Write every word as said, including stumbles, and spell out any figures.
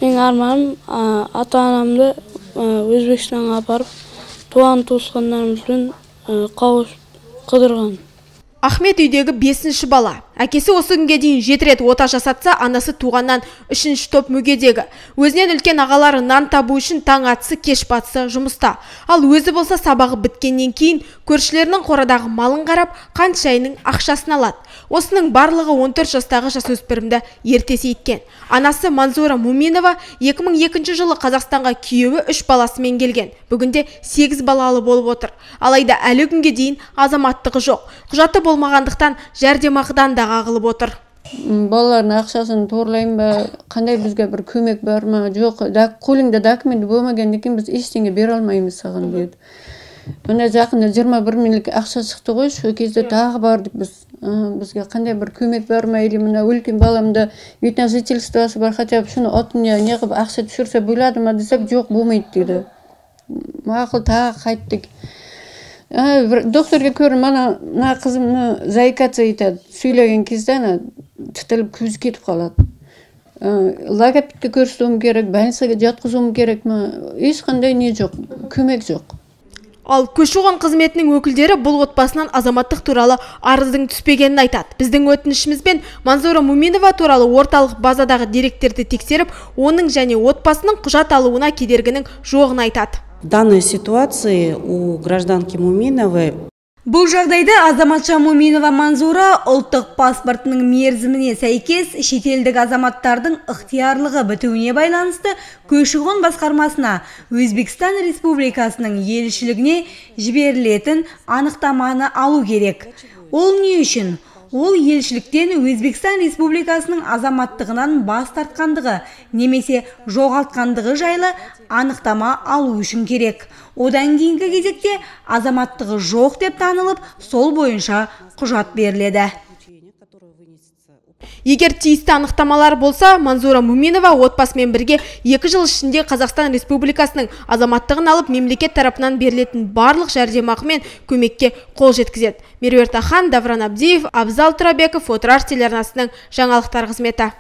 Мен арманым ата-анамды Өзбекстанға апарып, туған туысқандарымызбен қауышып қыдырған. Ахмет үйдегі бесінші бала. Әкесі осы күнге дейін жеті рет ота жасатса, анасы туғаннан үшінші топ мүгедегі. Өзінен үлкен ағалары нан табу үшін таң атысы, кеш батысы жұмыста. Ал өзі болса сабағы біткеннен кейін көршілерінің қорадағы малын қарап, қант шайының ақшасын алады. Осының барлығы он төрт жастағы жасөспірімді ерте сейіткен. Анасы Манзура Муминова екі мың екінші жылы Қазақстанға күйеуі үш баласымен келген. Бүгінде сегіз балалы болып отыр. Алайда әлі күнге дейін азаматтығы жоқ. Құжаты болмағандықтан жәрдемақыдан да қағылып отыр. Балалардың ақшасын торлайын ба, қандай бізге бір көмек бар ма, жоқ, қолыңда документ болмағаннан кейін біз ештеңе бере алмаймыз саған деді. Мына жақында жиырма бір миллион ақша шықты ғой, сол кезде тағы бардық біз. Бізге қандай бір көмек бар ма, или мына үлкен баламда вид на жительствосы бар, хотя бы шуны отына не қылып ақша түсірсе болады ма десек, жоқ, болмайды деді. Мақұл тағы қайттық. Докторға көріп, мына қызымны заикаться етеді. Сөйлеген кезде тұтылып көзі кетіп қалады. Логопедке көрсетуім керек, больницаға жатқызуым керек ма? Ешқандай не жоқ, көмек жоқ. Ал көші-қон қызметінің өкілдері бұл отбасынан азаматтық туралы арыздың түспегенін айтады. Біздің өтінішімізбен Манзура Муминова туралы орталық базадағы деректерді тексеріп, оның және отбасының құжат алуына кедергінің жоғын айтады. В данной ситуации у гражданки Муминовой Бұл жағдайда азаматша Муминова Манзура ұлттық паспортының мерзіміне сәйкес шетелдік азаматтардың ықтиярлығы бітуіне байланысты көші-қон басқармасына Өзбекстан Республикасының елшілігіне жіберілетін анықтаманы алу керек. Ол не үшін? Ол елшіліктен Өзбекстан Республикасының азаматтығынан бас тартқандығы немесе жоғалтқандығы жайлы анықтама алу үшін керек. Одан кейінгі кезекте азаматтығы жоқ деп танылып, сол бойынша құжат беріледі. Егер тиісті анықтамалар болса, Манзура Муминова отбасымен бірге екі жыл ішінде Қазақстан Республикасының азаматтығын алып, мемлекет тарапынан берілетін барлық жәрдемақы мен көмекке қол жеткізеді. Меруерт Ахан, Давран Абдиев, Абзал Турабеков, Отырар телеарнасының жаңалықтар қызметі.